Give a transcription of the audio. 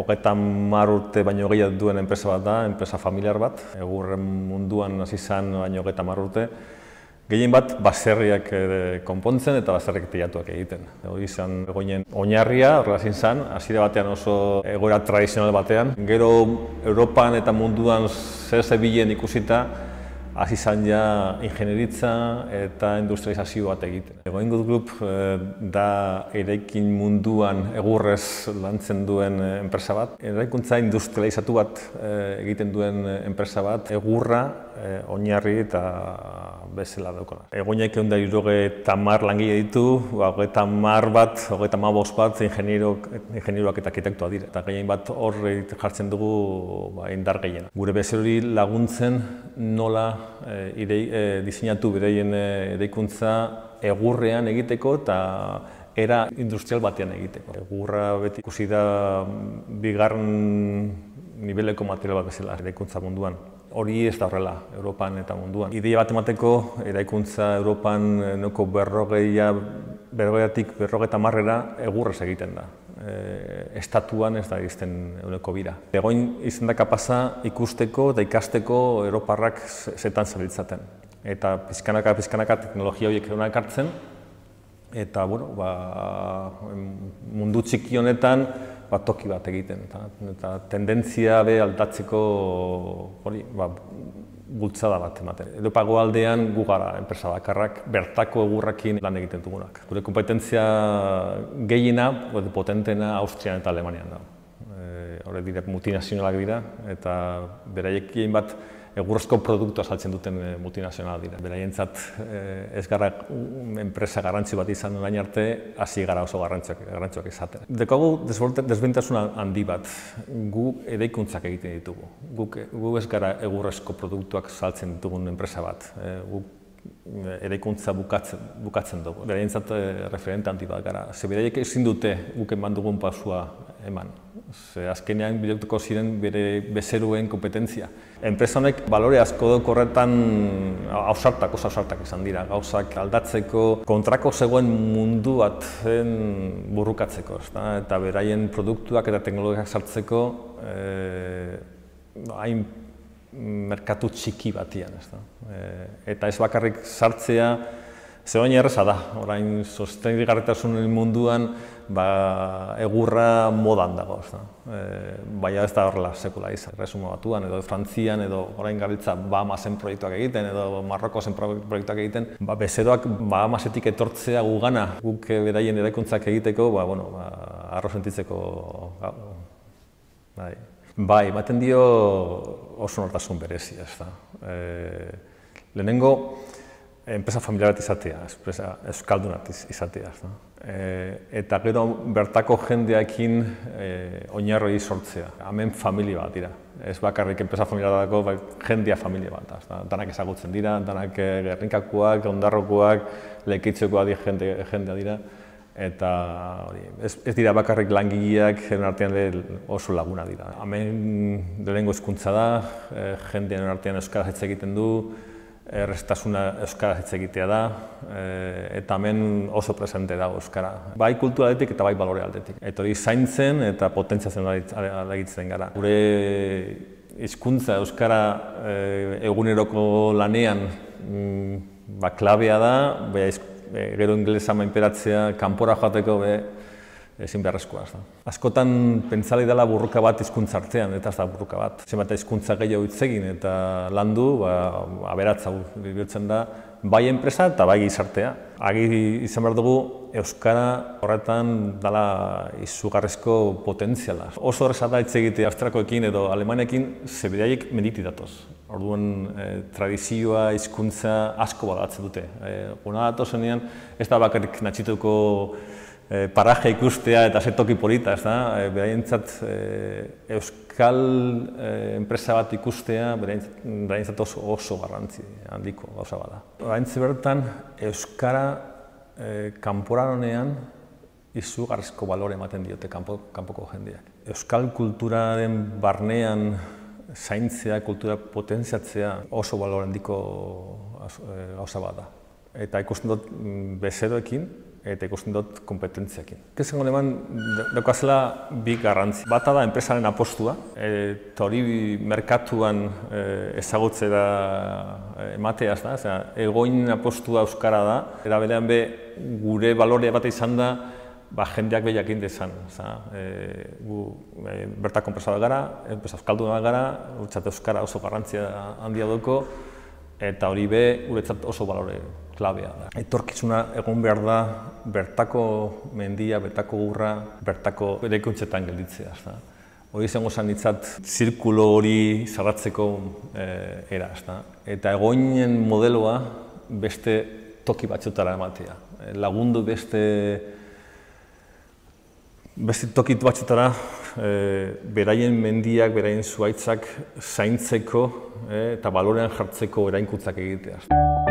30 urte baino gehiago duen enpresa bat da, enpresa familiar bat. Egurren munduan hasi zen baino 30 urte. Gehien bat baserriak konpontzen eta baserriak teilatuak egiten. Hori izan egoinen oinarria, horrela zen, hasiera batean oso egoera tradizional batean. Gero Europan eta munduan zer zebilen ikusita, hasi izan ja ingenieritza eta industrializazio bat egiten. Goingut Group da eraikin munduan egurrez lantzen duen enpresa bat. Eraikuntza industrializatu bat egiten duen enpresa bat, egurra oinarri eta bezala daukana. Egoinak 170 langile ditu, 30 bat, 35 bat ingenieroak eta arkitektoak dira. Eta gehien bat hor jartzen dugu indar gehiena. Gure bezerori laguntzen nola diseinatu beraien eraikuntza egurrean egiteko eta era industrial batean egiteko. Egurra beti ikusi da bigarren niveleko material bat bezala eraikuntza munduan. Hori ez da horrela, Europan eta munduan. Ideia bat emateko, eraikuntza Europan noko 40-tik 50 egurrez egiten da. Estatuan ez da izten euneko bira. Egoin izan da kapasa ikusteko eta ikasteko Europarrak zetan zabiltzaten. Eta pizkanaka teknologia horiek egunak hartzen, eta mundu txiki honetan toki bat egiten. Eta tendentzia aldatzeko bultzada bat ematen. Europako aldean gu gara enpresa bakarrak bertako egurrakin lan egiten dugunak. Gure kompetentzia gehiena, potentena Austrian eta Alemanian da. Horrek dira multinazionalak dira eta beraiekin bat egurrezko produktua saltzen duten multinazionalak dira. Beraientzat ez gara enpresa garrantzi bat izan orain arte, hasi gara oso garrantzioak izaten. Daukagu desbentasun handi bat, gu eraikuntzak egiten ditugu. Gu ez gara egurrezko produktuak saltzen ditugun enpresa bat. Eraikuntza bukatzen dugu. Beraientzat referente handi bat gara. Ze beraiek ezin dute guk eman dugun pasua eman. Azkenean bilatuko ziren bere bezeruen kompetentzia. Enpresa honek balore asko duk horretan oso ausartak izan dira. Gauzak aldatzeko, kontrako zegoen mundu baten burrukatzeko. Eta beraien produktuak eta teknologiak sartzeko hain merkatu txiki batian. Eta ez bakarrik sartzea, zegoen erreza da. Orain sostengarritasun munduan egurra modan dago. Baina ez da horrela sekula izan. Erresuma Batuan edo Frantzian edo orain gabiltza Bahamasen proiektuak egiten edo Marrokosen proiektuak egiten. Bezeroak Bahamasetik etortzea gugana guk beraien eraikuntzak egiteko, arro sentitzeko. Bai, ematen dio oso nortasun berezia. Lehenengo, enpresa familiar bat izatea, euskaldun bat izatea. Eta gero bertako jendeekin oinarroi sortzea. Hemen familia bat dira. Ez bakarrik enpresa familiar dago, jendea familia bat. Danak ezagutzen dira, danak gerrinkakoak, ondarrokoak, lekeitzekoak jendea dira. Eta ez dira bakarrik langileak, artean oso laguna dira. Hemen lehenengo hizkuntza da, jendean artean euskaraz hitz egiten du, erraztasuna euskaraz hitz egitea da, eta hemen oso presente dago euskara. Bai kultura aldetik eta bai balore aldetik. Eta hori zaintzen eta potentziatzen alegitzen gara. Gure hizkuntza euskara eguneroko lanean klabea da, gero ingelesa menperatzea, kanpora joateko ezin beharrezkoa. Askotan pentsali dela burruka bat hizkuntza artean, eta ez da burruka bat. Zenbat hizkuntza gehiago hitz egin eta landu, aberatsa bihurtzen da, bai enpresa eta bai gizartea. Agi izan behar dugu, euskara horretan dela izugarrizko potentziala. Oso horreza da hitz egitea Austriakoekin edo Alemanekin, ze beraiek menditi datoz. Orduan, tradizioa, hizkuntza asko badatzen dute. Guna datozenean, ez da bakarrik natxituko paraje ikustea eta zetoki polita, beraientzat euskal enpresa bat ikustea, beraientzat oso garrantzi handiko gauza bada. Oraintxe bertan, euskara kanporanean izugarrizko balore ematen diote kanpoko jendeak. Euskal kulturaren barnean zaintzea, kultura potentziatzea oso balore handiko gauza bada. Eta ikusten dut bezeroekin, eta ikusten dut kompetentziakin. Esango eman daukazela bi garrantzi. Bata da enpresaren apostua, eta hori merkatuan ezagutzera emateaz da, egoin apostua euskara da, era berean gure balorea bat izan da, jendeak behiakin dezan. Gu bertako enpresa bat gara, enpresa euskalduna bat gara, guretzat euskara oso garrantzia handia duko, eta hori guretzat oso balore klabea da. Etorkizuna egon behar da bertako mendia, bertako urra, bertako eraikuntzetan gelditzea. Hori izango zen ditzat zirkulo hori zarratzeko era. Eta egoinen modeloa beste toki batzutara ematea. Lagundu beste toki batzutara beraien mendiak, beraien zuhaitzak zaintzeko eta balorean jartzeko erainkuntzak egitea.